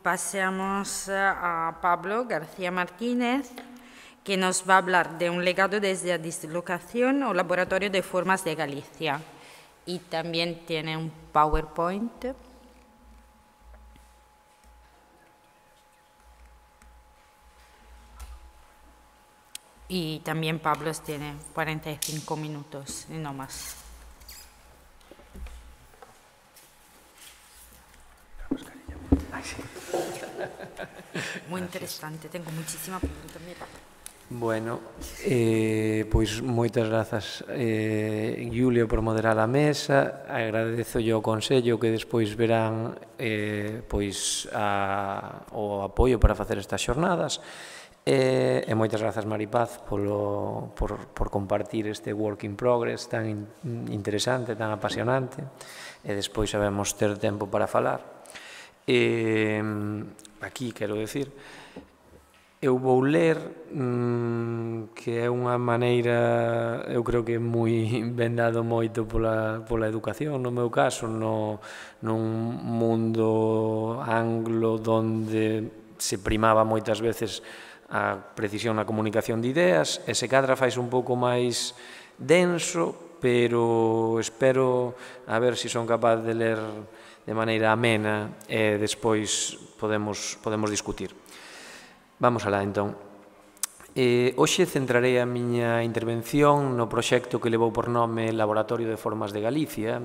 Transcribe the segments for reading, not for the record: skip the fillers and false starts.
pasamos a Pablo García Martínez, que nos va a hablar de un legado desde la dislocación o Laboratorio de Formas de Galicia. Y también tiene un PowerPoint. Y también Pablo tiene 45 minutos y no más. Muy interesante, tengo muchísima pregunta. Mira. Bueno, pois moitas grazas, Julio, por moderar a mesa. Agradezo yo o Consello que despois verán pois o apoio para facer estas xornadas. E moitas grazas, Maripaz, por compartir este work in progress tan interesante, tan apasionante, e despois sabemos ter tempo para falar. Aquí, quero decir, eu vou ler, que é unha maneira, eu creo que moi ben dado moito pola educación, no meu caso, nun mundo anglo onde se primaba moitas veces a precisión na comunicación de ideas, e se cadra fais un pouco máis denso, pero espero a ver se son capaz de ler de maneira amena e despois podemos discutir. Vamos alá, entón. Hoxe centrarei a miña intervención no proxecto que levou por nome Laboratorio de Formas de Galicia,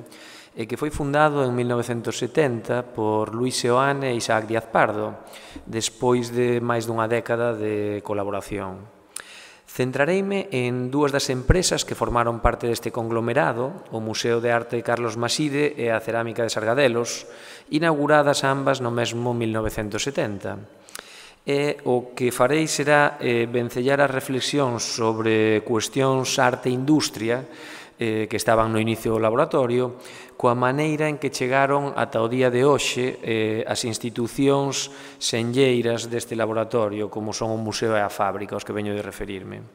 que foi fundado en 1970 por Luis Seoane e Isaac Díaz Pardo, despois de máis dunha década de colaboración. Centrareime en dúas das empresas que formaron parte deste conglomerado, o Museo de Arte Carlos Maside e a Cerámica de Sargadelos, inauguradas ambas no mesmo 1970. E o que farei será vencellar as reflexións sobre cuestións arte e industria que estaban no inicio do laboratorio, coa maneira en que chegaron ata o día de hoxe as institucións senlleiras deste laboratorio, como son o Museo e a Fábrica, aos que veño de referirme.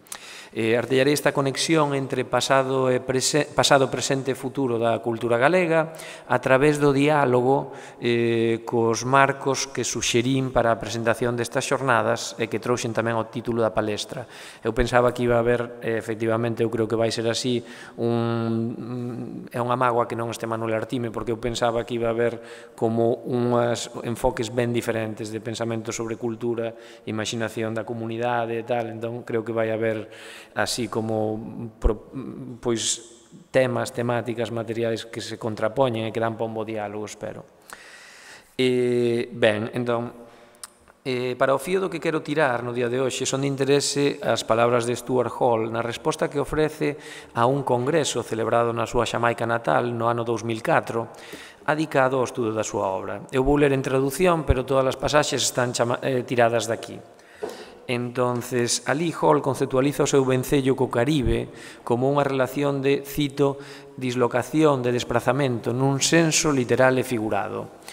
Artellarei esta conexión entre pasado, presente e futuro da cultura galega a través do diálogo cos marcos que suxerín para a presentación destas xornadas e que trouxen tamén o título da palestra. Eu pensaba que iba a haber, efectivamente, eu creo que vai ser así, é unha mágoa que non este Manuel Artime, porque eu pensaba que iba a haber como unhas enfoques ben diferentes de pensamento sobre cultura, imaginación da comunidade e tal, entón creo que vai haber así como pois temáticas, materiais que se contrapoñen e que dan para un bo diálogo, espero. Ben, entón, para o fío do que quero tirar no día de hoxe son de interese as palabras de Stuart Hall na resposta que ofrece a un congreso celebrado na súa Xamaica natal no ano 2004, adicado ao estudo da súa obra. Eu vou ler en traducción, pero todas as pasaxes están tiradas daqui. Entonces, alí Hall conceptualiza o seu vencello co Caribe como unha relación de, cito, dislocación, de desprazamento, nun senso literal e figurado,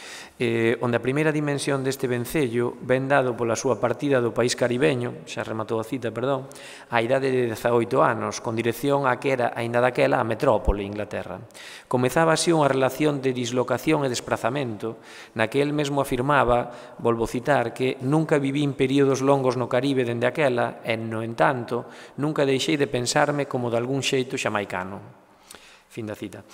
onde a primeira dimensión deste vencello ven dado pola súa partida do país caribeño, xa rematou a cita, perdón, á idade de 18 anos, con dirección a que era, aínda daquela, a metrópole, Inglaterra. Comezaba así unha relación de dislocación e desprazamento, na que el mesmo afirmaba, volvo citar, que nunca vivín períodos longos no Caribe dende aquela, e, no entanto, nunca deixei de pensarme como de algún xeito xamaicano. Fin da cita.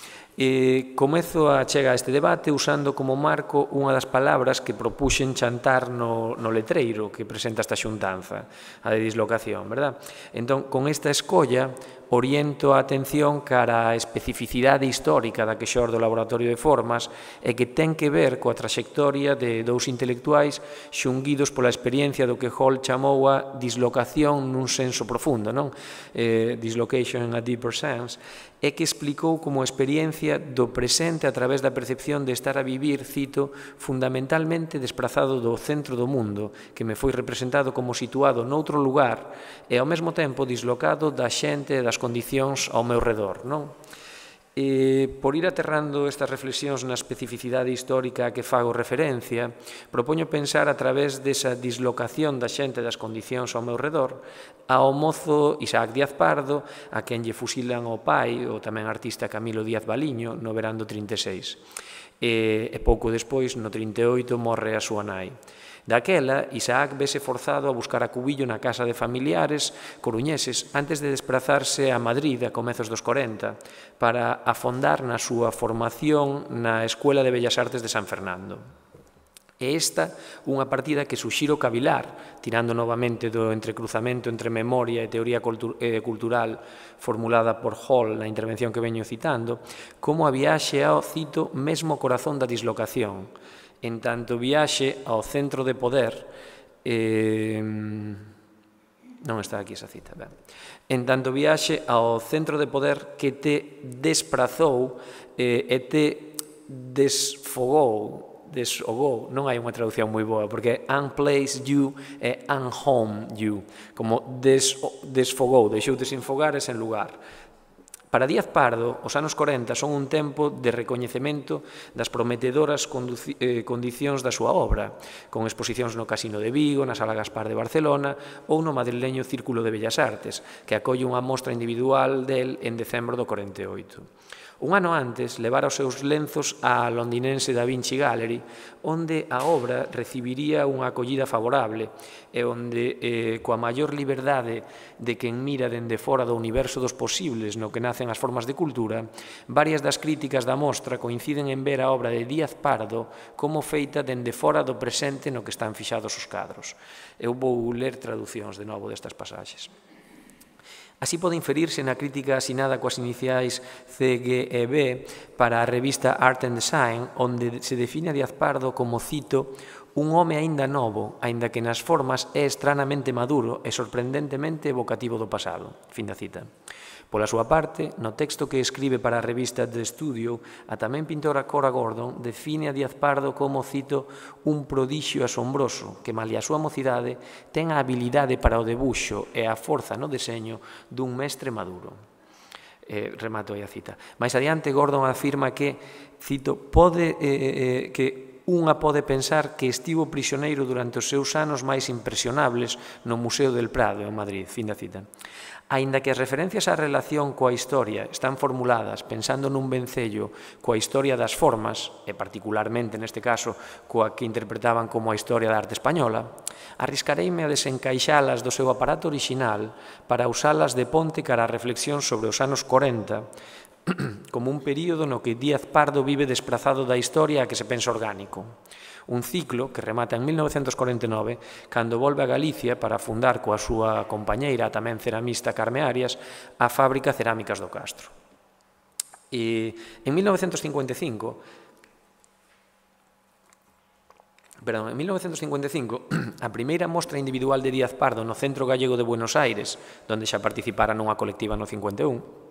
Comezo a chegar a este debate usando como marco unha das palabras que propuxen chantar no letreiro que presenta esta xuntanza, a de dislocación, verdad? Entón, con esta escolla, oriento a atención cara á especificidade histórica da que xorde o Laboratorio de Formas e que ten que ver coa traxectoria de dous intelectuais xunguidos pola experiencia do que Hall chamou a dislocación nun senso profundo, non? Dislocation in a deeper sense, e que explicou como experiencia do presente a través da percepción de estar a vivir, cito, fundamentalmente desprazado do centro do mundo, que me foi representado como situado noutro lugar e ao mesmo tempo dislocado da xente e das condicións ao meu redor, non? Por ir aterrando estas reflexións na especificidade histórica a que fago referencia, propoño pensar a través desa dislocación da xente das condicións ao meu redor ao mozo Isaac Díaz Pardo, a quen lle fusilan o pai, o tamén artista Camilo Díaz Baliño, no verán do 36. E pouco despois, no 38, morre a súa nai. Daquela, Isaac vese forzado a buscar acubillo na casa de familiares coruñeses antes de desplazarse a Madrid a comezos dos 40 para afondar na súa formación na Escuela de Bellas Artes de San Fernando. E esta unha partida que suxiro cavilar, tirando novamente do entrecruzamento entre memoria e teoría cultural formulada por Hall na intervención que veño citando, como a viaxe ao, cito, mesmo corazón da dislocación, en tanto viaxe ao centro de poder, non está aquí esa cita, ben. En tanto viaxe ao centro de poder que te desprazou e te desfogou, non hai unha traducción moi boa, porque unplaced you e unhomed you, como desfogou, deixou de sinfogar e sen lugar. Para Díaz Pardo, os anos 40 son un tempo de recoñecemento das prometedoras condicións da súa obra, con exposicións no Casino de Vigo, na Sala Gaspar de Barcelona ou no madrileño Círculo de Bellas Artes, que acolle unha mostra individual del en decembro do 48. Un ano antes, levara os seus lenzos á londinense Da Vinci Gallery, onde a obra recibiría unha acollida favorable e onde, coa maior liberdade de quen mira dende fora do universo dos posibles no que nacen as formas de cultura, varias das críticas da mostra coinciden en ver a obra de Díaz Pardo como feita dende fora do presente no que están fixados os cadros. Eu vou ler traducións de novo destas pasaxes. Así pode inferirse na crítica asinada coas iniciais C, G e B para a revista Art and Design, onde se define a Díaz Pardo como, cito, un home aínda novo, aínda que nas formas é estranamente maduro e sorprendentemente evocativo do pasado. Fin da cita. Pola súa parte, no texto que escribe para a revista The Studio, a tamén pintora Cora Gordon define a Díaz Pardo como, cito, un prodixio asombroso que, malia a súa mocidade, ten a habilidade para o debuxo e a forza no deseño dun mestre maduro. Remato aí a cita. Mais adiante, Gordon afirma que, cito, que unha pode pensar que estivo prisioneiro durante os seus anos máis impresionables no Museo del Prado, en Madrid. Fin da cita. Aínda que as referencias á relación coa historia están formuladas pensando nun vencello coa historia das formas, e particularmente neste caso coa que interpretaban como a historia da arte española, arriscareime a desencaixalas do seu aparato orixinal para usalas de ponte cara a reflexión sobre os anos 40 como un período no que Díaz Pardo vive desprazado da historia a que se pensa orgánico. Un ciclo que remata en 1949, cando volve a Galicia para fundar coa súa compañeira, tamén ceramista Carme Arias, a fábrica Cerámicas do Castro. E en 1955, a primeira mostra individual de Díaz Pardo no Centro Gallego de Buenos Aires, onde xa participara nunha colectiva no 51,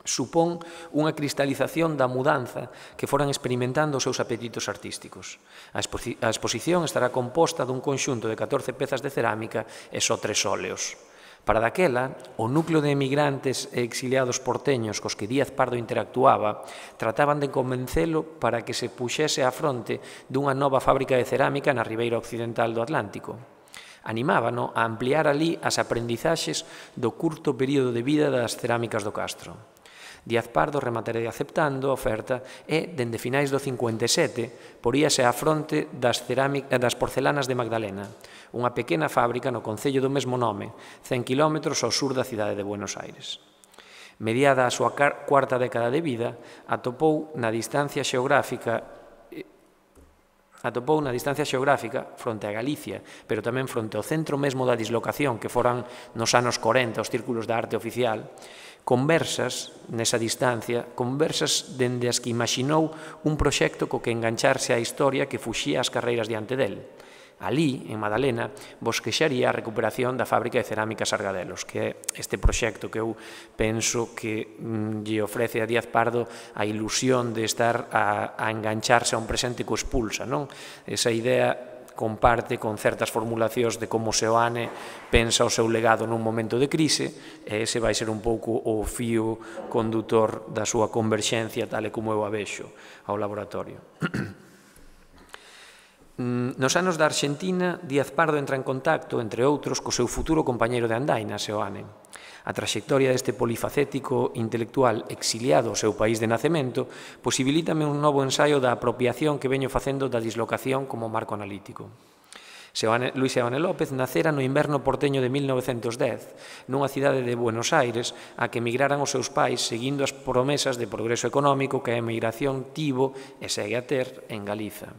supón unha cristalización da mudanza que foran experimentando os seus apetitos artísticos. A exposición estará composta dun conxunto de 14 pezas de cerámica e só 3 óleos. Para daquela, o núcleo de emigrantes e exiliados porteños cos que Díaz Pardo interactuaba trataban de convencelo para que se puxese á fronte dunha nova fábrica de cerámica na ribeira occidental do Atlántico. Animábano a ampliar alí as aprendizaxes do curto período de vida das cerámicas do Castro. Díaz Pardo remataría aceptando a oferta e, dende finais do 57, poríase á fronte das porcelanas de Magdalena, unha pequena fábrica no concello do mesmo nome, 100 km ao sur da cidade de Buenos Aires. Mediada a súa cuarta década de vida, atopou na distancia xeográfica fronte a Galicia, pero tamén fronte ao centro mesmo da dislocación que foran nos anos 40 os círculos da arte oficial, conversas nesa distancia, conversas dende as que imaxinou un proxecto co que engancharse á historia que fuxía as carreiras diante del. Alí, en Madalena, bosquexaría a recuperación da fábrica de cerámicas Argadelos, que é este proxecto que eu penso que lle ofrece a Díaz Pardo a ilusión de estar a engancharse a un presente que o expulsa, non? Esa idea comparte con certas formulacións de como Seoane pensa o seu legado nun momento de crise, e ese vai ser un pouco o fío condutor da súa converxencia, tal e como eu a vexo ao laboratorio. Nos anos da Arxentina, Díaz Pardo entra en contacto, entre outros, co seu futuro compañeiro de andaina, Seoane. A traxectoria deste polifacético intelectual exiliado ao seu país de nacemento posibilítame un novo ensaio da apropiación que veño facendo da dislocación como marco analítico. Luis Seoane López nacera no inverno porteño de 1910, nunha cidade de Buenos Aires a que emigraran os seus pais seguindo as promesas de progreso económico que a emigración tivo e segue a ter en Galiza.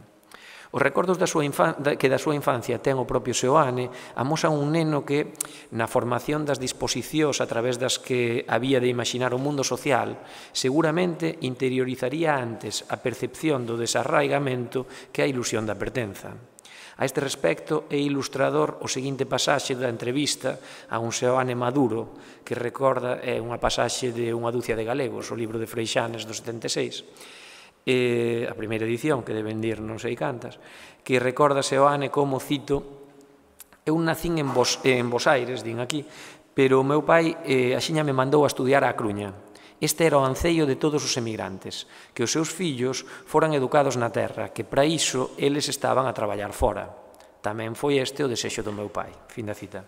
Os recordos que da súa infancia ten o propio Seoane amosan un neno que, na formación das disposicións a través das que había de imaginar o mundo social, seguramente interiorizaría antes a percepción do desarraigamento que a ilusión da pertenza. A este respecto, é ilustrador o seguinte pasaxe da entrevista a un Seoane maduro, que recorda unha pasaxe de Unha ducia de galegos, o libro de Freixanes do 76, a primeira edición, que deben dir non sei cantas, que recorda Seoane como, cito, eu nacín en Bos Aires, din aquí, pero o meu pai axiña me mandou a estudiar á Cruña. Este era o anceio de todos os emigrantes, que os seus fillos foran educados na terra, que para iso eles estaban a traballar fora. Tamén foi este o desexo do meu pai. Fin da cita.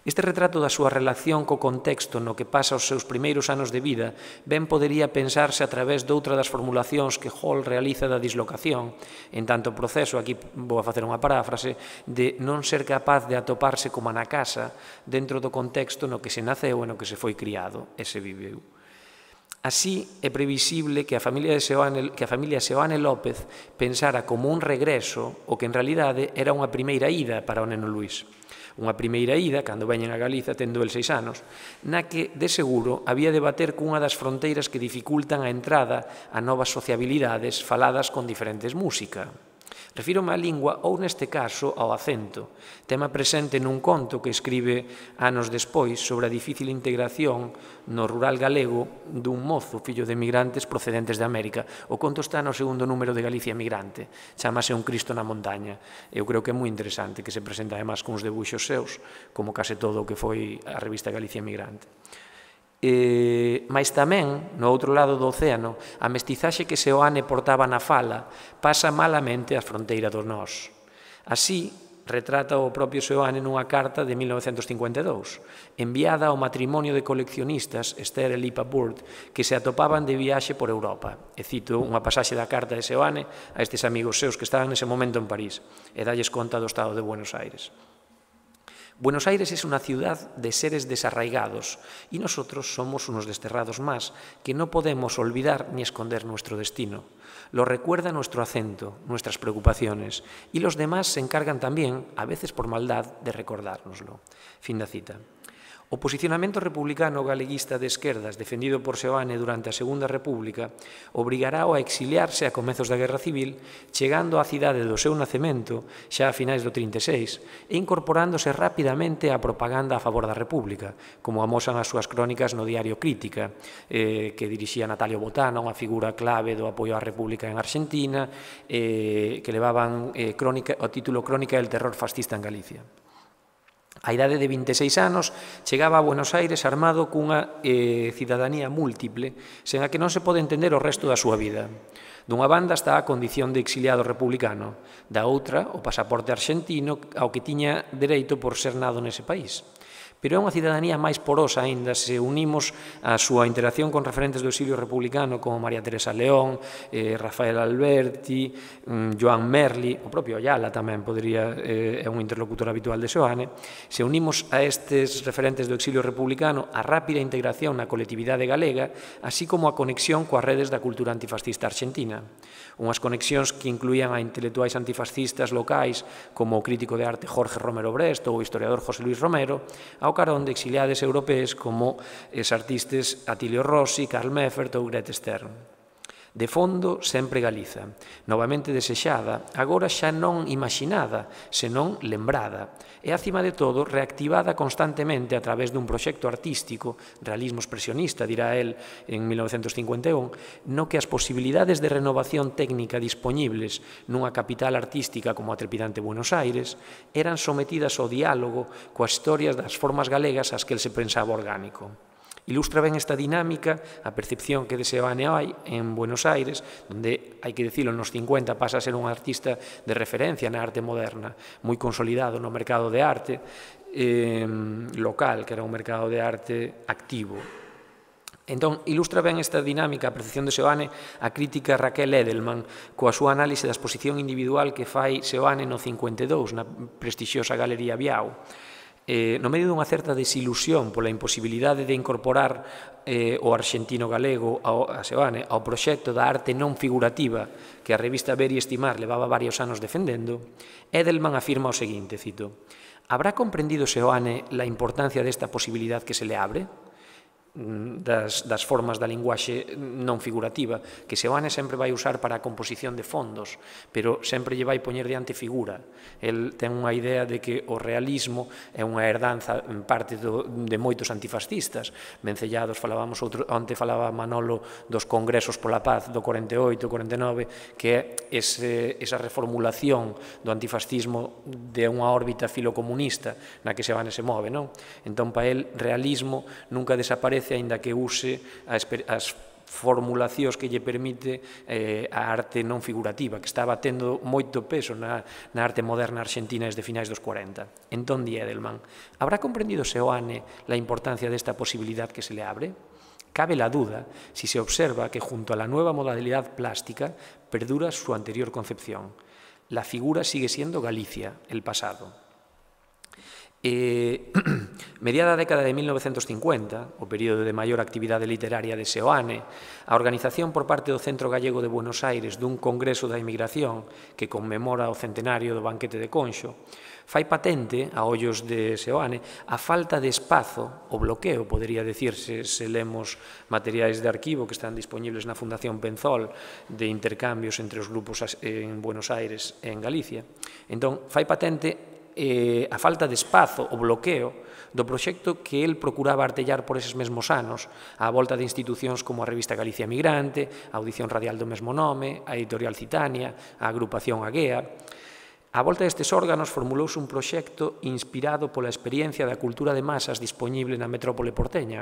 Este retrato da súa relación co contexto no que pasa os seus primeiros anos de vida ben podería pensarse a través doutra das formulacións que Hall realiza da dislocación, en tanto proceso, aquí vou a facer unha paráfrase, de non ser capaz de atoparse como na casa dentro do contexto no que se naceu e no que se foi criado e se viveu. Así, é previsible que a familia Seoane López pensara como un regreso o que en realidade era unha primeira ida para o neno Luís. Unha primeira ida, cando veñen a Galiza tendo el 6 anos, na que, de seguro, había de bater cunha das fronteiras que dificultan a entrada a novas sociabilidades faladas con diferentes música. Refírome á lingua ou, neste caso, ao acento, tema presente nun conto que escribe anos despois sobre a difícil integración no rural galego dun mozo fillo de emigrantes procedentes de América. O conto está no segundo número de Galicia Emigrante, chamase Un Cristo na montaña. Eu creo que é moi interesante, que se presenta además con uns debuxos seus, como case todo o que foi a revista Galicia Emigrante. Mais tamén, no outro lado do océano, a mestizaxe que Seoane portaba na fala pasa malamente a fronteira do nós. Así, retrata o propio Seoane nunha carta de 1952, enviada ao matrimonio de coleccionistas Esther e Lipa Burd, que se atopaban de viaxe por Europa. E cito unha pasaxe da carta de Seoane a estes amigos seus que estaban nese momento en París, e dalles conta do estado de Buenos Aires. Buenos Aires es una ciudad de seres desarraigados y nosotros somos unos desterrados más que no podemos olvidar ni esconder nuestro destino. Lo recuerda nuestro acento, nuestras preocupaciones y los demás se encargan también, a veces por maldad, de recordárnoslo. Fin da cita. O posicionamento republicano galeguista de esquerdas defendido por Seoane durante a Segunda República obrigará a exiliarse a comezos da Guerra Civil, chegando á cidade do seu nacemento xa a finais do 36 e incorporándose rapidamente á propaganda a favor da República, como amosan as súas crónicas no diario Crítica, que dirixía Natalio Botana, unha figura clave do apoio á República en Argentina, que levaban o título Crónica del terror fascista en Galicia. A idade de 26 anos, chegaba a Buenos Aires armado cunha cidadanía múltiple, sen a que non se pode entender o resto da súa vida. Dunha banda está a condición de exiliado republicano, da outra, o pasaporte arxentino ao que tiña dereito por ser nado nese país. Pero é unha cidadanía máis porosa aínda se unimos a súa interacción con referentes do exilio republicano como María Teresa León, Rafael Alberti, Joan Merli, o propio Ayala tamén é un interlocutor habitual de Seoane. Se unimos a estes referentes do exilio republicano a rápida integración na colectividade galega, así como a conexión coas redes da cultura antifascista argentina. Unhas conexións que incluían a intelectuais antifascistas locais como o crítico de arte Jorge Romero Brest ou o historiador José Luis Romero, ao carón de exiliades europees como os artistas Atilio Rossi, Karl Meffert ou Grete Stern. De fondo, sempre Galiza, novamente desexada, agora xa non imaxinada, senón lembrada, e, acima de todo, reactivada constantemente a través dun proxecto artístico, realismo expresionista, dirá el en 1951, no que as posibilidades de renovación técnica dispoñibles nunha capital artística como a trepidante Buenos Aires eran sometidas ao diálogo coas historias das formas galegas ás que el se pensaba orgánico. Ilustra ben esta dinámica a percepción que de Seoane hai en Buenos Aires, onde, hai que dicilo, nos 50 pasa a ser un artista de referencia na arte moderna, moi consolidado no mercado de arte local, que era un mercado de arte activo. Entón, ilustra ben esta dinámica, a percepción de Seoane, a crítica Raquel Edelman, coa súa análise da exposición individual que fai Seoane no 52, na prestixiosa Galería Biao. No medio dunha certa desilusión pola imposibilidade de incorporar o arxentino galego a Seoane ao proxecto da arte non figurativa que a revista Ver e Estimar levaba varios anos defendendo, Edelman afirma o seguinte, cito: «Habrá comprendido Seoane la importancia desta posibilidad que se le abre?» das formas da linguaxe non figurativa, que Seoane sempre vai usar para a composición de fondos, pero sempre lle vai poñer diante figura. El ten unha idea de que o realismo é unha herdanza en parte de moitos antifascistas. Vencellados, falábamos onte falaba Manolo dos congresos pola paz do 48, 49, que é esa reformulación do antifascismo de unha órbita filocomunista na que Seoane se move, non? Entón, para el, realismo nunca desaparece aínda que use as formulacións que lle permite a arte non figurativa, que estaba tendo moito peso na arte moderna argentina desde finais dos 40. Entón, di Edelman, habrá comprendido Seoane la importancia desta posibilidad que se le abre? Cabe la duda si se observa que junto a la nueva modalidad plástica perdura su anterior concepción. La figura sigue siendo Galicia, el pasado. Mediada a década de 1950, o período de maior actividade literaria de Seoane, a organización por parte do Centro Gallego de Buenos Aires dun Congreso da Inmigración que conmemora o centenario do banquete de Conxo, fai patente, a ollos de Seoane, a falta de espazo, o bloqueo, podería decirse, se lemos materiais de arquivo que están disponibles na Fundación Penzol de intercambios entre os grupos en Buenos Aires e en Galicia. Entón, fai patente a falta de espazo, o bloqueo do proxecto que el procuraba artellar por eses mesmos anos, á volta de institucións como a revista Galicia Migrante, a Audición Radial do mesmo nome, a editorial Citania, a agrupación Aguea. Á volta destes órganos formulouse un proxecto inspirado pola experiencia da cultura de masas disponible na metrópole porteña,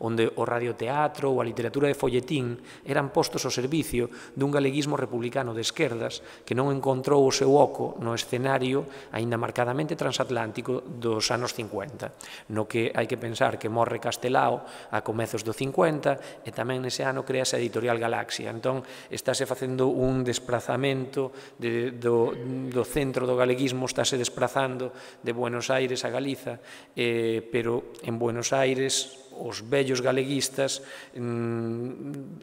onde o radioteatro ou a literatura de folletín eran postos ao servicio dun galeguismo republicano de esquerdas que non encontrou o seu oco no escenario aínda marcadamente transatlántico dos anos 50, no que hai que pensar que morre Castelao a comezos do 50 e tamén nese ano crease a editorial Galaxia. Entón, estáse facendo un desprazamento do centro do galeguismo, estáse desprazando de Buenos Aires a Galiza, pero en Buenos Aires os vellos galeguistas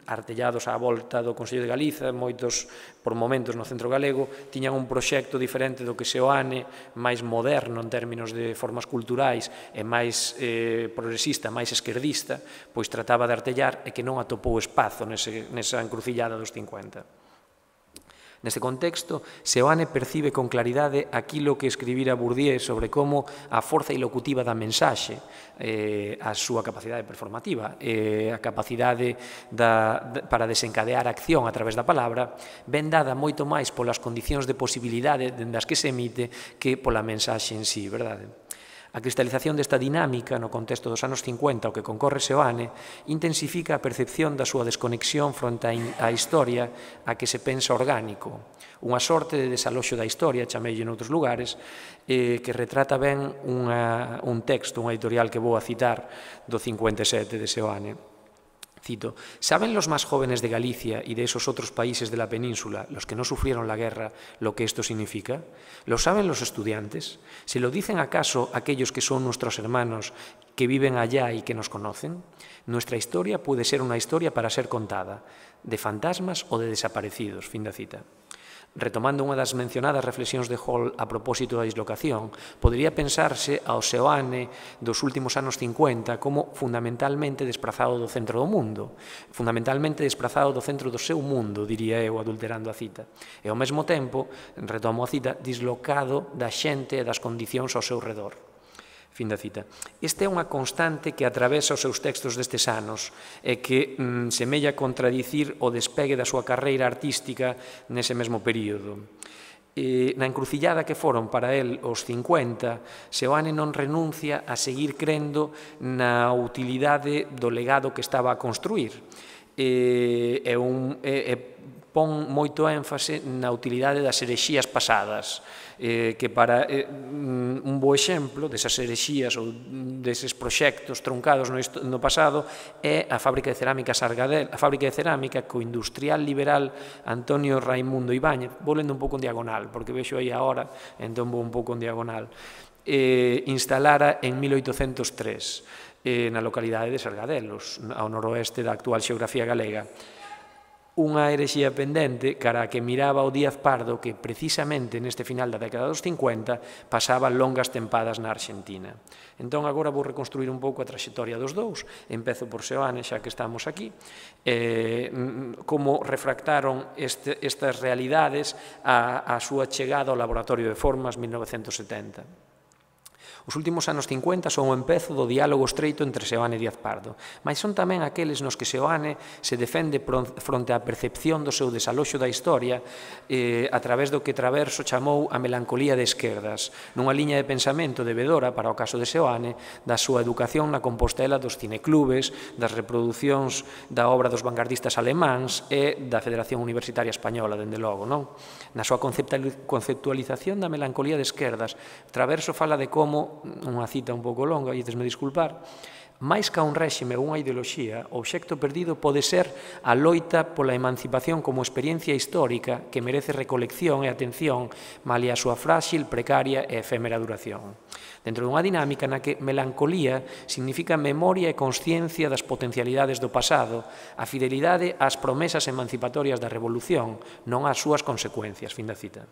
artellados á volta do Consello de Galiza, moitos por momentos no centro galego, tiñan un proxecto diferente do que Seoane, máis moderno en términos de formas culturais e máis progresista, máis esquerdista, pois trataba de artellar e que non atopou espazo nesa encrucillada dos 50. Neste contexto, Seoane percibe con claridade aquilo que escribira Bourdieu sobre como a forza ilocutiva da mensaxe, a súa capacidade performativa, a capacidade para desencadear acción a través da palabra, ven dada moito máis polas condicións de posibilidade das que se emite que pola mensaxe en sí, verdade? A cristalización desta dinámica no contexto dos anos 50 ao que concorre Seoane intensifica a percepción da súa desconexión fronte á historia a que se pensa orgánico, unha sorte de desaloxo da historia, chameille noutros lugares, que retrata ben un texto, unha editorial que vou a citar do 57 de Seoane. Cito, ¿saben los más jóvenes de Galicia y de esos otros países de la península, los que no sufrieron la guerra, lo que esto significa? ¿Lo saben los estudiantes? ¿Se lo dicen acaso aquellos que son nuestros hermanos que viven allá y que nos conocen? Nuestra historia puede ser una historia para ser contada, de fantasmas o de desaparecidos. Fin da cita. Retomando unha das mencionadas reflexións de Hall a propósito da dislocación, podería pensarse ao Seoane dos últimos anos 50 como fundamentalmente desprazado do centro do mundo, fundamentalmente desprazado do centro do seu mundo, diría eu, adulterando a cita, e ao mesmo tempo, retomo a cita, dislocado da xente e das condicións ao seu redor. Fin da cita. Esta é unha constante que atravesa os seus textos destes anos e que semella contradicir o despegue da súa carreira artística nese mesmo período. Na encrucillada que foron para el os 50, Seoane non renuncia a seguir crendo na utilidade do legado que estaba a construir e pon moito énfase na utilidade das herexías pasadas, que para un bo exemplo desas herexías ou deses proxectos truncados no pasado é a fábrica de cerámica Sargadel, a fábrica de cerámica co industrial liberal Antonio Raimundo Ibáñez. Vou lendo un pouco en diagonal, porque vexo aí a hora, entón vou un pouco en diagonal. Instalara en 1803 na localidade de Sargadelos, ao noroeste da actual xeografía galega, unha herexía pendente cara a que miraba o Díaz Pardo que precisamente neste final da década dos 50 pasaba longas tempadas na Arxentina. Entón agora vou reconstruir un pouco a traxectoria dos dous, empezo por Seoane xa que estamos aquí, como refractaron estas realidades a súa chegada ao Laboratorio de Formas 1970. Os últimos anos 50 son o empezo do diálogo estreito entre Seoane e Díaz Pardo, mas son tamén aqueles nos que Seoane se defende fronte á percepción do seu desaloxo da historia a través do que Traverso chamou a melancolía de esquerdas, nunha liña de pensamento debedora, para o caso de Seoane, da súa educación na Compostela dos cineclubes, das reproducións da obra dos vanguardistas alemáns e da Federación Universitaria Española, dende logo, non? Na súa conceptualización da melancolía de esquerdas, Traverso fala de como, unha cita un pouco longa, e me disculpar, máis ca un réxime ou unha ideoloxía, o obxecto perdido pode ser a loita pola emancipación como experiencia histórica que merece recolección e atención malia a súa frágil, precaria e efémera duración. Dentro dunha dinámica na que melancolía significa memoria e consciencia das potencialidades do pasado, a fidelidade ás promesas emancipatorias da revolución, non ás súas consecuencias. Fin da cita.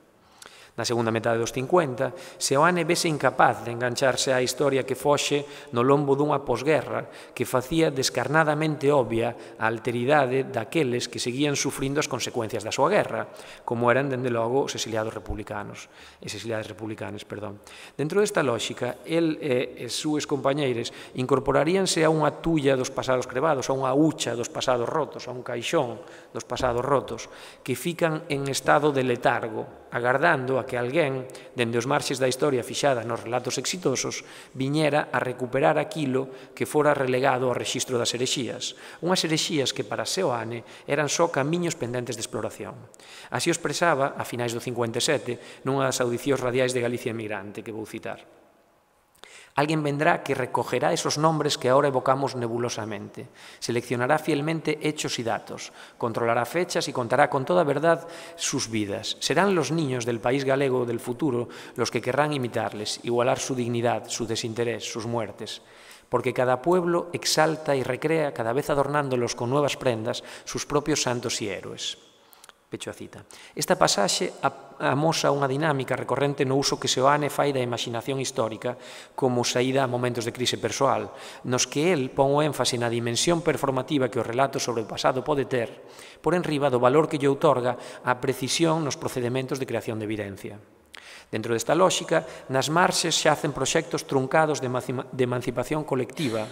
Na segunda metade dos 50, Seoane vese incapaz de engancharse á historia que foxe no lombo dunha posguerra que facía descarnadamente obvia a alteridade daqueles que seguían sufrindo as consecuencias da súa guerra, como eran, dende logo, os exiliadas republicanas. Dentro desta lógica, el e as súas compañeiras incorporaríanse a unha tulla dos pasados crebados, a unha hucha dos pasados rotos, a un caixón dos pasados rotos, que fican en estado de letargo, agardando a que alguén, dende os marxes da historia fixada nos relatos exitosos, viñera a recuperar aquilo que fora relegado ao rexistro das herexías, unhas herexías que para Seoane eran só camiños pendentes de exploración. Así o expresaba, a finais do 57, nunha das audicións radiais de Galicia Emigrante, que vou citar. Alguén vendrá que recogerá esos nombres que ahora evocamos nebulosamente, seleccionará fielmente hechos y datos, controlará fechas y contará con toda verdad sus vidas. Serán los niños del país galego del futuro los que querrán imitarles, igualar su dignidad, su desinterés, sus muertes. Porque cada pueblo exalta y recrea, cada vez adornándolos con nuevas prendas, sus propios santos y héroes. Pecho a cita. Esta pasaxe amosa unha dinámica recorrente no uso que Seoane fai da imaginación histórica como saída a momentos de crise persoal, nos que el pon o énfase na dimensión performativa que o relato sobre o pasado pode ter, por enriba do valor que lle outorga a precisión nos procedementos de creación de evidencia. Dentro desta lógica, nas marxes xacen proxectos truncados de emancipación colectiva,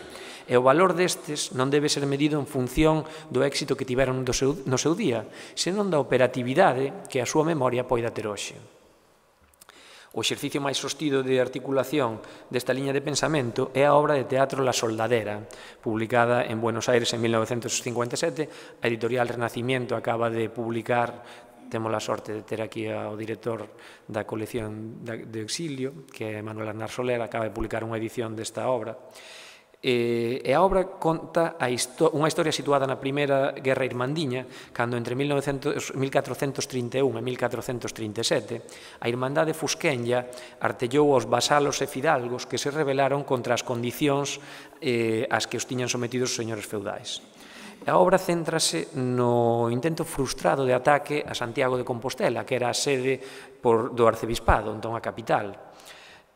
e o valor destes non debe ser medido en función do éxito que tiveron no seu día, senón da operatividade que a súa memoria poida ter hoxe. O exercicio máis sostido de articulación desta liña de pensamento é a obra de teatro La Soldadera, publicada en Buenos Aires en 1957. A editorial Renacimiento acaba de publicar, temos a sorte de ter aquí ao director da colección de Exilio, que é Manuel Arnar Soler, acaba de publicar unha edición desta obra. E a obra conta unha historia situada na Primeira Guerra Irmandiña, cando entre 1431 e 1437 a Irmandade Fusquenlla artellou aos vasalos e fidalgos que se rebelaron contra as condicións ás que os tiñan sometidos os señores feudais. A obra céntrase no intento frustrado de ataque a Santiago de Compostela, que era a sede do arcebispado, entón a capital.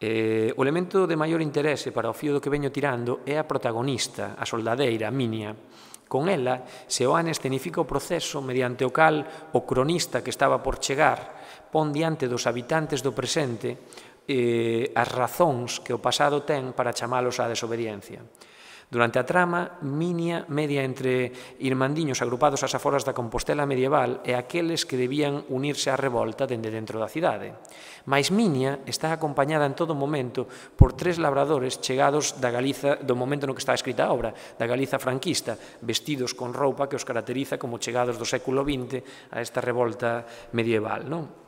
O elemento de maior interese para o fío do que veño tirando é a protagonista, a soldadeira, Minia. Con ela, Seoane escenifica o proceso mediante o cal o cronista que estaba por chegar pon diante dos habitantes do presente as razóns que o pasado ten para chamalos á desobediencia. Durante a trama, Minia media entre irmandiños agrupados ás aforas da Compostela medieval e aqueles que debían unirse á revolta dende dentro da cidade. Mais Minia está acompañada en todo momento por 3 labradores chegados da Galiza do momento no que está escrita a obra, da Galiza franquista, vestidos con roupa que os caracteriza como chegados do século XX a esta revolta medieval, non?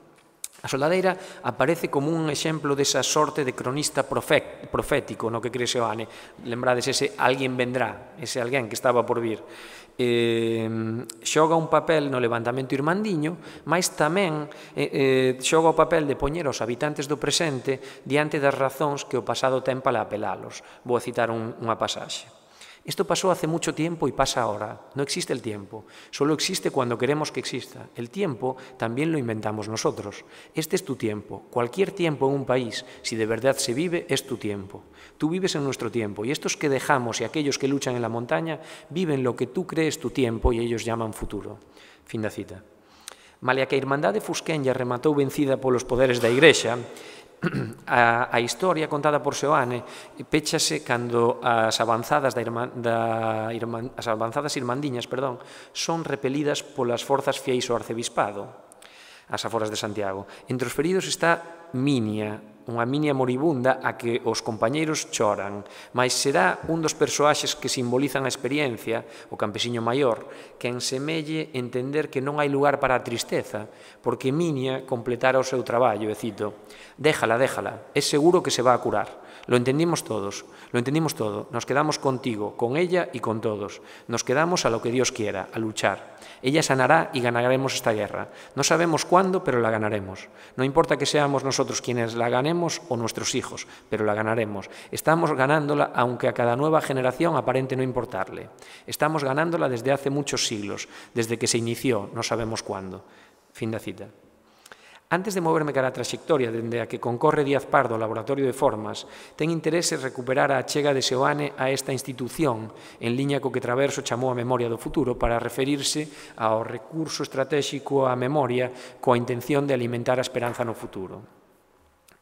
A soldadeira aparece como un exemplo desa sorte de cronista profético no que cree Seoane. Lembrades ese alguén vendrá, ese alguén que estaba por vir. Xoga un papel no levantamento irmandiño, mas tamén xoga o papel de poñer os habitantes do presente diante das razóns que o pasado ten para apelalos. Vou a citar unha pasaxe. Esto pasó hace mucho tiempo y pasa ahora. No existe el tiempo. Solo existe cuando queremos que exista. El tiempo también lo inventamos nosotros. Este es tu tiempo. Cualquier tiempo en un país, si de verdad se vive, es tu tiempo. Tú vives en nuestro tiempo y estos que dejamos y aquellos que luchan en la montaña viven lo que tú crees tu tiempo y ellos llaman futuro. Fin da cita. Malia que a Irmandade Fusquenlla rematou vencida polos poderes da Igrexa, a historia contada por Seoane péchase cando as avanzadas irmandiñas son repelidas polas forzas fieis ao arcebispado, ás aforas de Santiago. Entre os feridos está Minia, unha Minia moribunda a que os compañeiros choran, mas será un dos persoaxes que simbolizan a experiencia, o campesiño maior, que ensemelle entender que non hai lugar para a tristeza, porque Minia completara o seu traballo, e cito: déjala, es seguro que se va a curar. Lo entendimos todos, nos quedamos contigo, con ella y con todos. Nos quedamos a lo que Dios quiera, a luchar. Ella sanará y ganaremos esta guerra. No sabemos cuándo, pero la ganaremos. No importa que seamos nosotros quienes la ganemos o nuestros hijos, pero la ganaremos. Estamos ganándola aunque a cada nueva generación aparente no importarle. Estamos ganándola desde hace muchos siglos, desde que se inició, no sabemos cuándo. Fin da cita. Antes de moverme cara a trayectoria dende a que concorre Díaz Pardo ao Laboratorio de Formas, ten interese recuperar a achega de Seoane a esta institución, en liña co que Traverso chamou a memoria do futuro, para referirse ao recurso estratégico á memoria coa intención de alimentar a esperanza no futuro.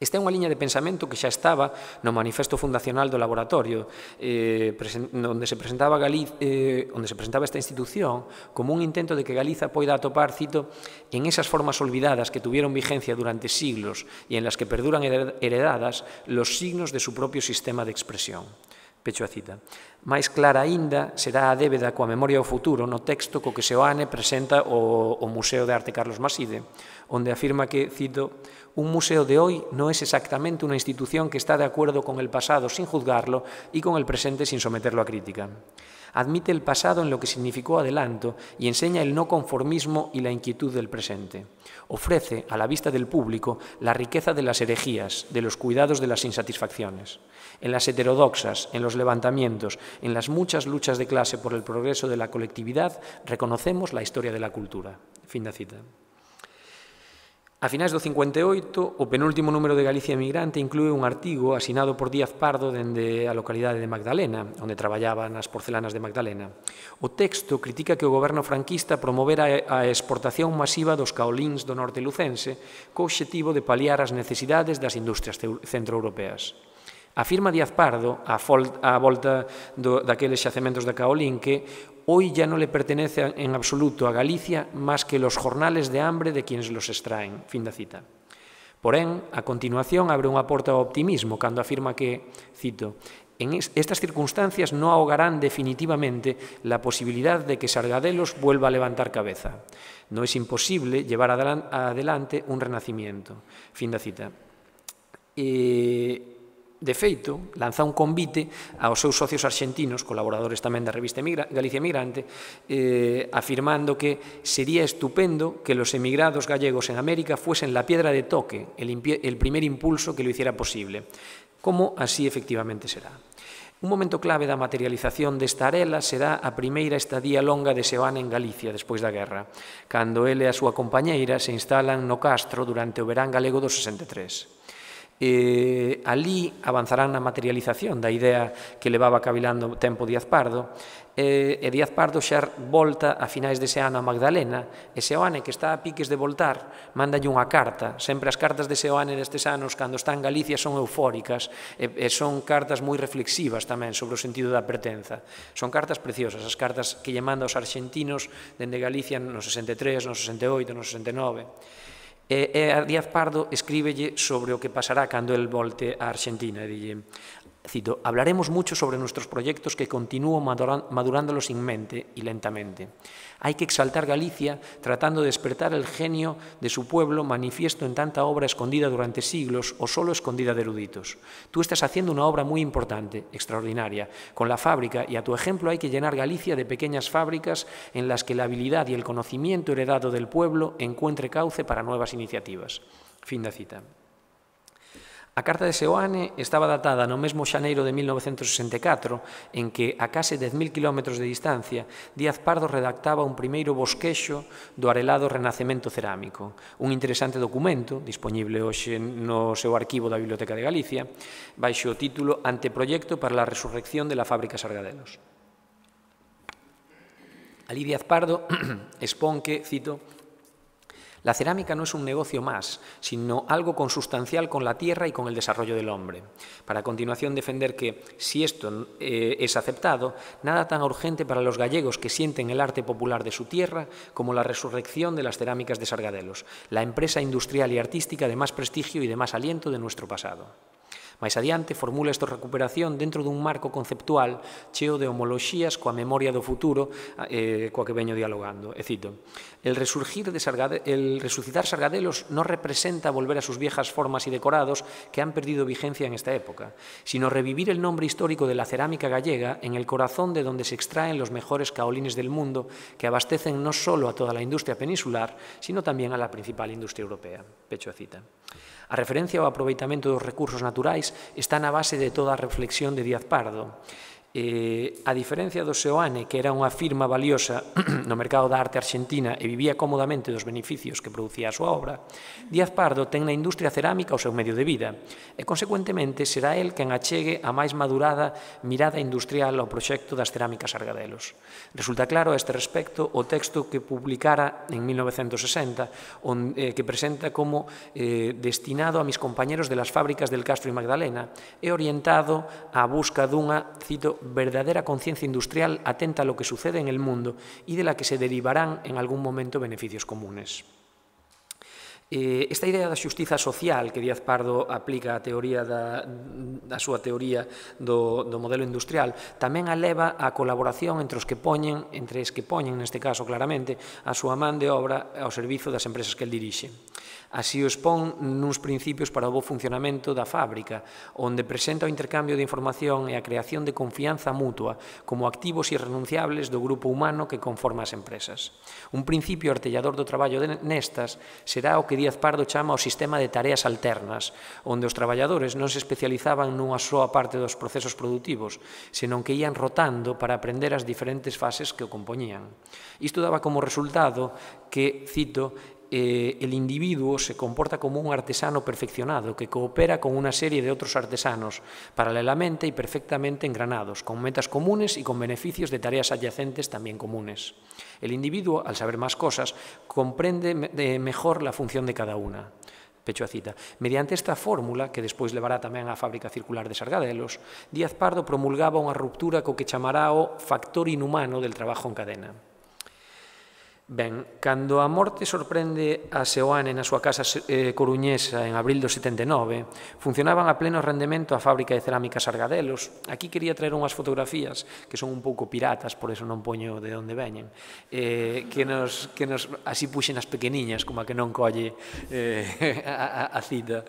Esta é unha liña de pensamento que xa estaba no manifesto fundacional do laboratorio, onde se presentaba esta institución como un intento de que Galiza poida atopar, cito, en esas formas olvidadas que tuvieron vigencia durante siglos y en las que perduran heredadas los signos de su propio sistema de expresión. Pecho a cita. Máis clara aínda será a débeda coa memoria ao futuro no texto co que Seoane presenta o Museo de Arte Carlos Maside, onde afirma que, cito, un museo de hoy no es exactamente una institución que está de acuerdo con el pasado sin juzgarlo y con el presente sin someterlo a crítica. Admite el pasado en lo que significó adelanto y enseña el no conformismo y la inquietud del presente. Ofrece a la vista del público la riqueza de las herejías, de los cuidados de las insatisfacciones. En las heterodoxas, en los levantamientos, en las muchas luchas de clase por el progreso de la colectividad, reconocemos la historia de la cultura. Fin da cita. A finais do 58, o penúltimo número de Galicia Emigrante inclúe un artigo asinado por Díaz Pardo dende a localidade de Magdalena, onde traballaba nas porcelanas de Magdalena. O texto critica que o goberno franquista promovera a exportación masiva dos caolíns do norte lucense co obxectivo de paliar as necesidades das industrias centroeuropeas. Afirma Díaz Pardo, á volta daqueles xacementos de caolín, que hoy ya no le pertenece en absoluto a Galicia más que los jornales de hambre de quienes los extraen. Fin da cita. Porén, a continuación abre unha porta ao optimismo cando afirma que, cito, en estas circunstancias no ahogarán definitivamente la posibilidad de que Sargadelos vuelva a levantar cabeza. No es imposible llevar adelante un renacimiento. Fin da cita. De feito, lanza un convite aos seus socios arxentinos, colaboradores tamén da revista Galicia Emigrante, afirmando que sería estupendo que los emigrados gallegos en América fuesen la piedra de toque, el primer impulso que lo hiciera posible, como así efectivamente será. Un momento clave da materialización desta arela será a primeira estadía longa de Seoane en Galicia despois da guerra, cando ele e a súa compañeira se instalan no castro durante o verán galego do 63. Alí avanzarán na materialización da idea que levaba cavilando tempo Díaz Pardo, e Díaz Pardo xa volta a finais dese ano a Magdalena, e Seoane, que está a piques de voltar, mandalle unha carta. Sempre as cartas de Seoane destes anos, cando está en Galicia, son eufóricas, e son cartas moi reflexivas tamén sobre o sentido da pertenza. Son cartas preciosas, as cartas que lle manda aos arxentinos dende Galicia no 63, no 68, no 69. E a Díaz Pardo escríbelle sobre o que pasará cando el volte a Argentina. E dille, cito, hablaremos mucho sobre nuestros proyectos que continúo madurándolos sin mente y lentamente. Hay que exaltar Galicia tratando de despertar el genio de su pueblo manifiesto en tanta obra escondida durante siglos o solo escondida de eruditos. Tú estás haciendo una obra muy importante, extraordinaria, con la fábrica y a tu ejemplo hay que llenar Galicia de pequeñas fábricas en las que la habilidad y el conocimiento heredado del pueblo encuentre cauce para nuevas iniciativas. Fin da cita. A carta de Seoane estaba datada no mesmo xaneiro de 1964, en que, a case 10.000 km de distancia, Díaz Pardo redactaba un primeiro bosquexo do arelado Renacemento cerámico, un interesante documento, disponible hoxe no seu arquivo da Biblioteca de Galicia, baixo o título Anteproyecto para la resurrección de la fábrica Sargadelos. Alí Díaz Pardo expón que, cito, la cerámica no es un negocio más, sino algo consustancial con la tierra y con el desarrollo del hombre. Para a continuación defender que, si esto es aceptado, nada tan urgente para los gallegos que sienten el arte popular de su tierra como la resurrección de las cerámicas de Sargadelos, la empresa industrial y artística de más prestigio y de más aliento de nuestro pasado. Máis adiante, formula esta recuperación dentro dun marco conceptual cheo de homoloxías coa memoria do futuro coa que veño dialogando. E cito, el resucitar Sargadelos no representa volver a sus viejas formas y decorados que han perdido vigencia en esta época, sino revivir el nombre histórico de la cerámica gallega en el corazón de donde se extraen los mejores caolines del mundo que abastecen no solo a toda la industria peninsular, sino también a la principal industria europea. Pecho a cita. A referencia ao aproveitamento dos recursos naturais está na base de toda a reflexión de Díaz Pardo. A diferencia do Seoane, que era unha firma valiosa no mercado da arte argentina e vivía cómodamente dos beneficios que producía a súa obra, Díaz Pardo ten na industria cerámica o seu medio de vida e, consecuentemente, será el quen achegue a máis madurada mirada industrial ao proxecto das cerámicas Sargadelos. Resulta claro a este respecto o texto que publicara en 1960 que presenta como destinado a mis compañeros de las fábricas del Castro y Magdalena e orientado á busca dunha, cito, verdadera conciencia industrial atenta a lo que sucede en el mundo y de la que se derivarán en algún momento beneficios comunes. Esta idea da xustiza social que Díaz Pardo aplica a teoría da súa teoría do modelo industrial tamén aleva a colaboración entre os que poñen, neste caso claramente, a súa man de obra ao servizo das empresas que el dirixe. Así o expón nuns principios para o bo funcionamento da fábrica, onde presenta o intercambio de información e a creación de confianza mutua como activos irrenunciables do grupo humano que conforma as empresas. Un principio artellador do traballo nestas será o que Díaz Pardo chama o sistema de tareas alternas, onde os traballadores non se especializaban nunha soa parte dos procesos produtivos, senón que ían rotando para aprender as diferentes fases que o compoñían. Isto daba como resultado que, cito, el individuo se comporta como un artesano perfeccionado que coopera con una serie de otros artesanos paralelamente y perfectamente engranados, con metas comunes y con beneficios de tareas adyacentes también comunes. El individuo, al saber más cosas, comprende mejor la función de cada una. Pecho a cita. Mediante esta fórmula, que despois levará tamén á fábrica circular de Sargadelos, Díaz Pardo promulgaba unha ruptura co que chamará o factor inhumano del trabajo en cadena. Ben, cando a morte sorprende a Seoane na súa casa coruñesa en abril do 79, funcionaban a pleno rendemento a fábrica de cerámica Sargadelos. Aquí quería traer unhas fotografías que son un pouco piratas, por eso non poño de onde veñen, que nos así puxen as pequeniñas, como a que non colle a cita.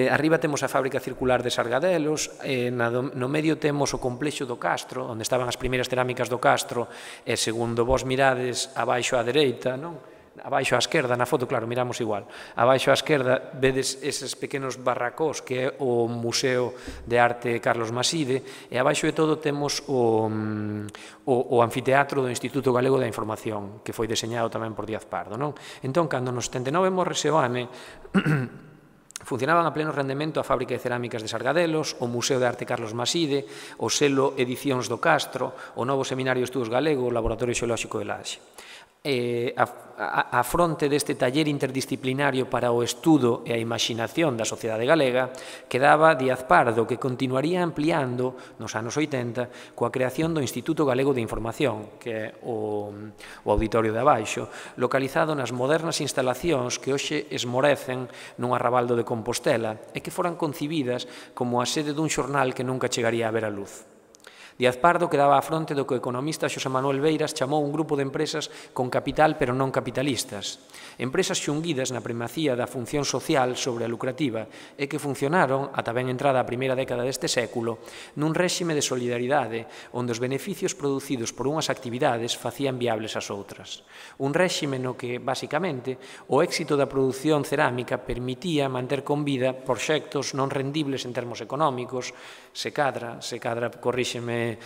Arriba temos a fábrica circular de Sargadelos, no medio temos o complexo do Castro, onde estaban as primeiras cerámicas do Castro, e segundo vos mirades abaixo á dereita, non? abaixo á esquerda, na foto, claro, miramos igual, abaixo á esquerda vedes eses pequenos barracós que é o Museo de Arte Carlos Maside, e abaixo de todo temos o anfiteatro do Instituto Galego da Información, que foi deseñado tamén por Díaz Pardo, non? Entón, cando no 79 morre Seoane, funcionaban a pleno rendemento a Fábrica de Cerámicas de Sargadelos, o Museo de Arte Carlos Maside, o Selo Edicións do Castro, o novo Seminario de Estudos Galego, o Laboratorio Xeolóxico de Laxe. A fronte deste taller interdisciplinario para o estudo e a imaxinación da sociedade galega quedaba Díaz Pardo, que continuaría ampliando nos anos 80 coa creación do Instituto Galego de Información, que é o auditorio de abaixo, localizado nas modernas instalacións que hoxe esmorecen nun arrabaldo de Compostela e que foran concibidas como a sede dun xornal que nunca chegaría a ver a luz. Díaz Pardo quedaba á fronte do que o economista Xosé Manuel Beiras chamou un grupo de empresas con capital pero non capitalistas. Empresas xunguidas na primacía da función social sobre a lucrativa e que funcionaron, ata ben entrada a primeira década deste século, nun réxime de solidaridade onde os beneficios producidos por unhas actividades facían viables as outras. Un réxime no que, basicamente, o éxito da produción cerámica permitía manter con vida proxectos non rendibles en termos económicos, se cadra, corríxeme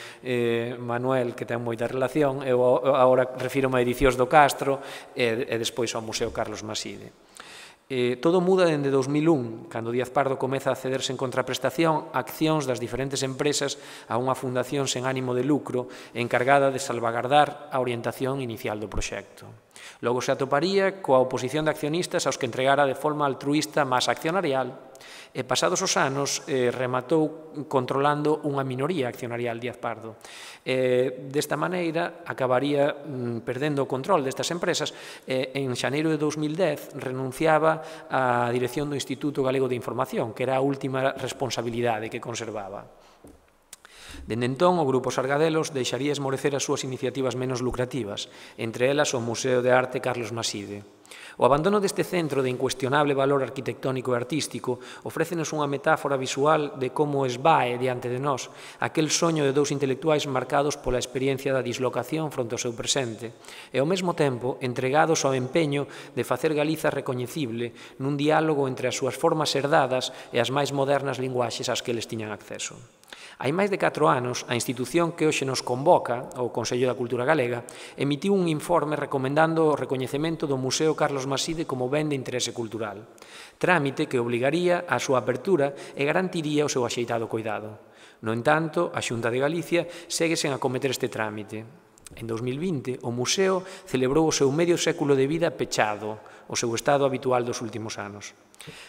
Manuel, que ten moita relación, eu agora refírome a Edicións do Castro e despois ao Museo Carlos Maside. Todo muda dende 2001, cando Díaz Pardo comeza a cederse en contraprestación a accións das diferentes empresas a unha fundación sen ánimo de lucro encargada de salvagardar a orientación inicial do proxecto. Logo se atoparía coa oposición de accionistas aos que entregara de forma altruísta masa accionarial e, pasados os anos, rematou controlando unha minoría accionarial Díaz Pardo. Desta maneira, acabaría perdendo o control destas empresas e, en xaneiro de 2010, renunciaba á dirección do Instituto Galego de Información, que era a última responsabilidade que conservaba. Dende entón, o Grupo Sargadelos deixaría esmorecer as súas iniciativas menos lucrativas, entre elas o Museo de Arte Carlos Maside. O abandono deste centro de incuestionable valor arquitectónico e artístico ofrécenos unha metáfora visual de como esvae diante de nós aquel soño de dous intelectuais marcados pola experiencia da dislocación fronte ao seu presente e, ao mesmo tempo, entregados ao empeño de facer Galiza recoñecible nun diálogo entre as súas formas herdadas e as máis modernas linguaxes ás que eles tiñan acceso. Hai máis de 4 anos, a institución que hoxe nos convoca, o Consello da Cultura Galega, emitiu un informe recomendando o recoñecemento do Museo Carlos Maside como ben de interese cultural, trámite que obligaría a súa apertura e garantiría o seu axeitado coidado. No entanto, a Xunta de Galicia segue sen acometer este trámite. En 2020, o museo celebrou o seu medio século de vida pechado, o seu estado habitual dos últimos anos.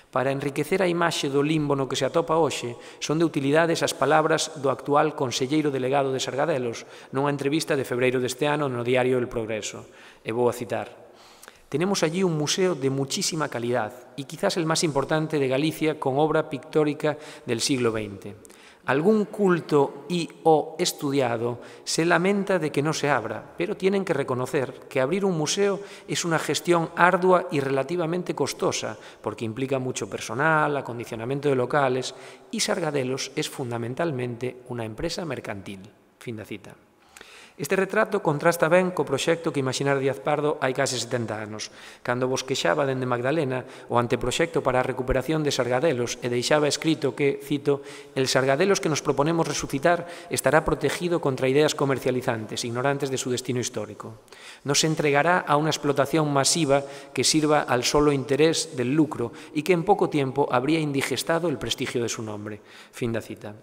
Para enriquecer a imaxe do limbo no que se atopa hoxe, son de utilidades as palabras do actual conselleiro delegado de Sargadelos nunha entrevista de febreiro deste ano no diario El Progreso. E vou a citar: «Tenemos allí un museo de muchísima calidad y quizás el más importante de Galicia con obra pictórica del siglo XX. Algún culto y o estudiado se lamenta de que no se abra, pero tienen que reconocer que abrir un museo es una gestión ardua y relativamente costosa, porque implica mucho personal, acondicionamiento de locales, y Sargadelos es fundamentalmente una empresa mercantil». Fin da cita. Este retrato contrasta ben co proxecto que imaginara Díaz Pardo hai case 70 anos, cando bosquexaba dende Magdalena o anteproxecto para a recuperación de Sargadelos e deixaba escrito que, cito, «El Sargadelos que nos proponemos resucitar estará protegido contra ideas comercializantes, ignorantes de su destino histórico. No se entregará a una explotación masiva que sirva al solo interés del lucro y que en poco tiempo habría indigestado el prestigio de su nombre». Fin da cita.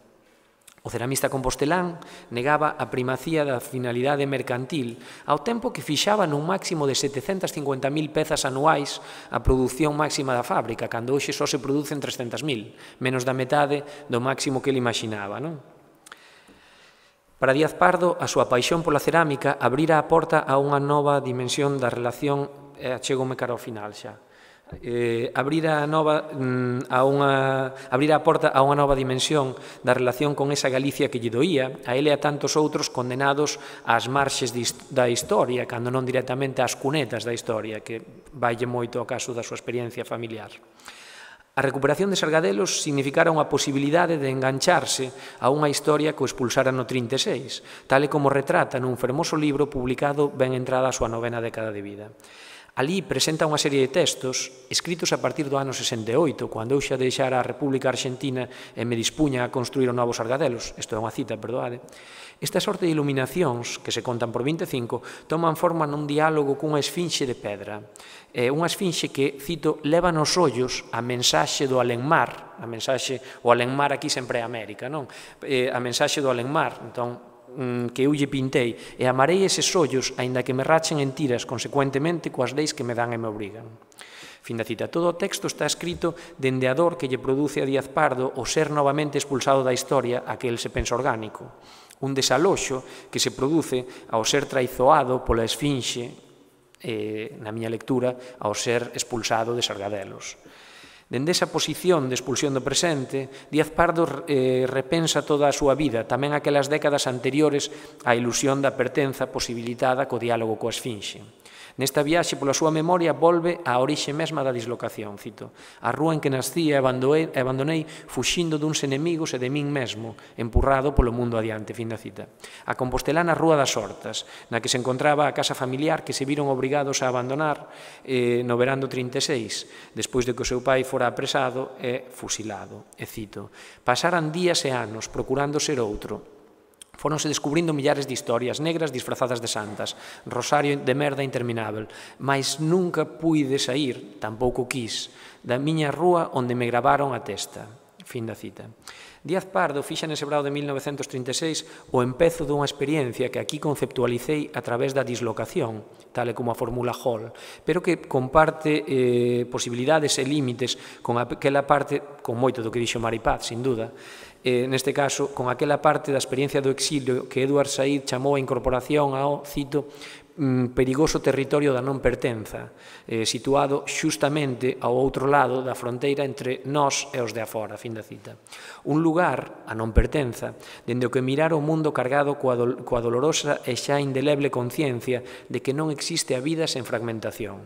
O ceramista compostelán negaba a primacía da finalidade mercantil ao tempo que fixaba nun máximo de 750.000 pezas anuais a produción máxima da fábrica, cando hoxe só se producen 300.000, menos da metade do máximo que ele imaginaba, non? Para Díaz Pardo, a súa paixón pola cerámica abrira a porta a unha nova dimensión da relación, e achégome cara ao final xa, abrir a porta a unha nova dimensión da relación con esa Galicia que lle doía a ele e a tantos outros condenados ás marxes da historia, cando non directamente ás cunetas da historia, que vaille moito ao caso da súa experiencia familiar. A recuperación de Sargadelos significara unha posibilidade de engancharse a unha historia que o expulsara no 36, tal e como retrata nun fermoso libro publicado ben entrada a súa 9ª década de vida. Alí presenta unha serie de textos escritos a partir do ano 68, cando eu xa deixara a República Argentina e me dispuña a construir o novo Sargadelos. Isto é unha cita, perdoade. Esta sorte de iluminacións, que se contan por 25, toman forma nun diálogo cunha esfinxe de pedra. Unha esfinxe que, cito, leva nos ollos a mensaxe do alenmar. A mensaxe, o alenmar aquí sempre é América, non? A mensaxe do alenmar, entón, que eu lle pintei, e amarei eses ollos, aínda que me rachen en tiras, consecuentemente, coas leis que me dan e me obrigan. Fin da cita. Todo o texto está escrito dende a dor que lle produce a Díaz Pardo o ser novamente expulsado da historia a que el se pensa orgánico. Un desaloxo que se produce ao ser traizoado pola esfinxe, na miña lectura, ao ser expulsado de Sargadelos. Dende esa posición de expulsión do presente, Díaz Pardo repensa toda a súa vida, tamén aquelas décadas anteriores á ilusión da pertenza posibilitada co diálogo coa esfinxe. Nesta viaxe pola súa memoria volve á orixe mesma da dislocación, cito, a rúa en que nascí e abandonei fuxindo duns enemigos e de min mesmo, empurrado polo mundo adiante, fin da cita. A compostelana Rúa das Hortas, na que se encontraba a casa familiar que se viron obrigados a abandonar no verán do 36, despois de que o seu pai fora apresado e fusilado. E cito, pasaran días e anos procurando ser outro, fóronse descubrindo millares de historias negras disfrazadas de santas, rosario de merda interminável, mas nunca puide sair, tampouco quis, da miña rúa onde me gravaron a testa. Fin da cita. Díaz Pardo fixa nese brao de 1936 o empezo dunha experiencia que aquí conceptualicei a través da dislocación, tal e como a formula Hall, pero que comparte posibilidades e límites con aquela parte, con moito do que dixo Maripaz, sin duda, neste caso, con aquela parte da experiencia do exilio que Edward Said chamou a incorporación ao, cito, perigoso territorio da non pertenza, situado xustamente ao outro lado da fronteira entre nós e os de afora, fin da cita. Un lugar, a non pertenza, dende o que mirar o mundo cargado coa dolorosa e xa indeleble conciencia de que non existe a vida sen fragmentación.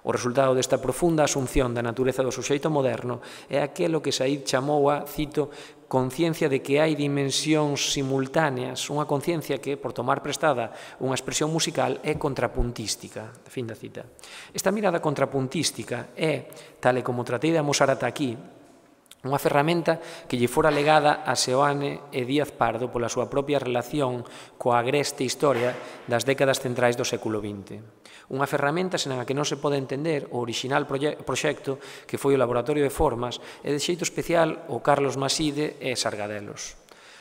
O resultado desta profunda asunción da natureza do suxeito moderno é aquelo que Said chamou a, cito, conciencia de que hai dimensións simultáneas, unha conciencia que, por tomar prestada unha expresión musical, é contrapuntística. Fin da cita. Esta mirada contrapuntística é, tal e como tratei de amosar ata aquí, unha ferramenta que lle fora legada a Seoane e Díaz Pardo pola súa propia relación coa agreste historia das décadas centrais do século XX. Unha ferramenta sen a que non se pode entender o orixinal proxecto que foi o Laboratorio de Formas e de xeito especial o Carlos Maside e Sargadelos.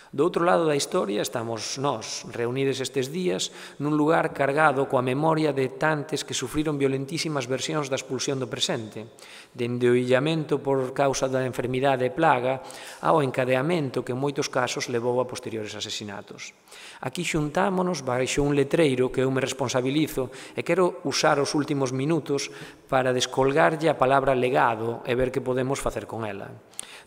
Do outro lado da historia estamos nós, reunidos estes días, nun lugar cargado coa memoria de tantes que sufriron violentísimas versións da expulsión do presente, dende o illamento por causa da enfermidade e plaga ao encadeamento que en moitos casos levou a posteriores asesinatos. Aquí xuntámonos baixo un letreiro que eu me responsabilizo e quero usar os últimos minutos para descolgarlle a palabra legado e ver que podemos facer con ela.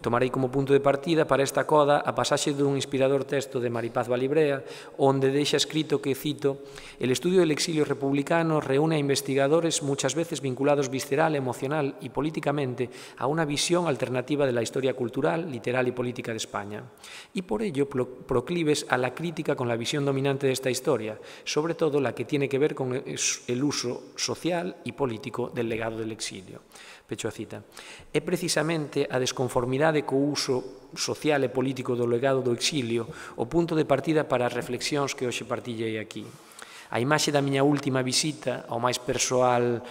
Tomarei como punto de partida para esta coda a pasaxe dun inspirador texto de Maripaz Valibrea, onde deixa escrito que, cito, «El estudio del exilio republicano reúne a investigadores muchas veces vinculados visceral, emocional y políticamente a una visión alternativa de la historia cultural, literal y política de España, y por ello proclives a la crítica con la visión dominante de esta historia, sobre todo la que tiene que ver con el uso social y político del legado del exilio». Pecho a cita. É precisamente a desconformidade co uso social e político do legado do exilio o punto de partida para as reflexións que hoxe partillei aquí. A imaxe da miña última visita a máis persoal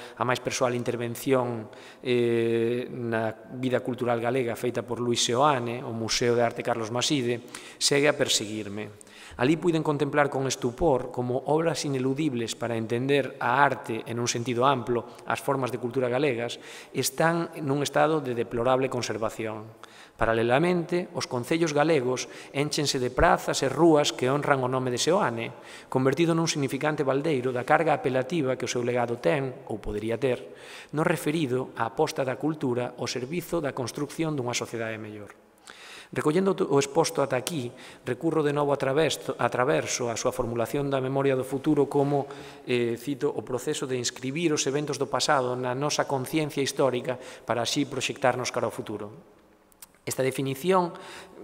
intervención na vida cultural galega feita por Luis Seoane, o Museo de Arte Carlos Maside, segue a perseguirme. Alí puiden contemplar con estupor como obras ineludibles para entender a arte en un sentido amplo, as formas de cultura galegas, están nun estado de deplorable conservación. Paralelamente, os concellos galegos énchense de prazas e rúas que honran o nome de Seoane, convertido nun significante baldeiro da carga apelativa que o seu legado ten, ou podería ter, no referido á aposta da cultura ao servizo da construcción dunha sociedade mellor. Recollendo o exposto ata aquí, recurro de novo a traverso a súa formulación da memoria do futuro como, cito, o proceso de inscribir os eventos do pasado na nosa conciencia histórica para así proxectarnos cara ao futuro. Esta definición,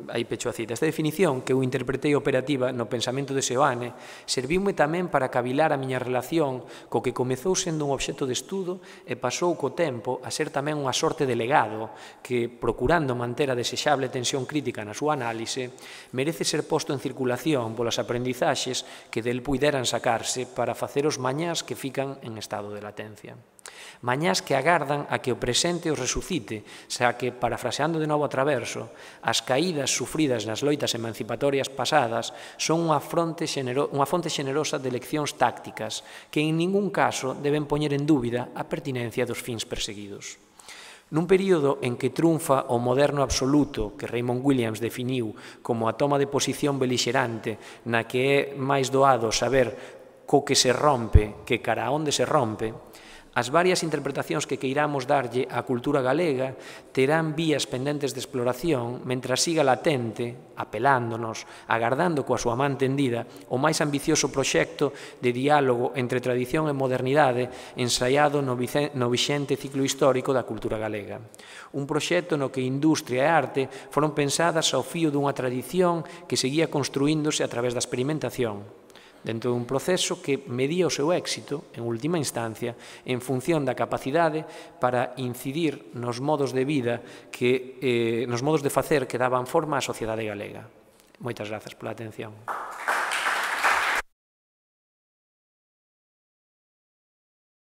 aí pecho a cita, esta definición que eu interpretei operativa no pensamento de Seoane serviume tamén para cavilar a miña relación co que comezou sendo un obxecto de estudo e pasou co tempo a ser tamén unha sorte de legado que, procurando manter a desexable tensión crítica na súa análise, merece ser posto en circulación polas aprendizaxes que del puideran sacarse para facer os mañás que fican en estado de latencia. Mañás que agardan a que o presente os resucite, xa que, parafraseando de novo a Traverso, as caídas sufridas nas loitas emancipatorias pasadas son unha fonte xenerosa de leccións tácticas que en ningún caso deben poñer en dúbida a pertinencia dos fins perseguidos. Nun período en que triunfa o moderno absoluto que Raymond Williams definiu como a toma de posición belixerante na que é máis doado saber co que se rompe que cara a onde se rompe, as varias interpretacións que queiramos darlle á cultura galega terán vías pendentes de exploración mentras siga latente, apelándonos, agardando coa súa man tendida, o máis ambicioso proxecto de diálogo entre tradición e modernidade ensaiado no vixente ciclo histórico da cultura galega. Un proxecto no que industria e arte foron pensadas ao fío dunha tradición que seguía construíndose a través da experimentación, dentro dun proceso que medía o seu éxito, en última instancia, en función da capacidade para incidir nos modos de vida, nos modos de facer que daban forma á sociedade galega. Moitas grazas pola atención.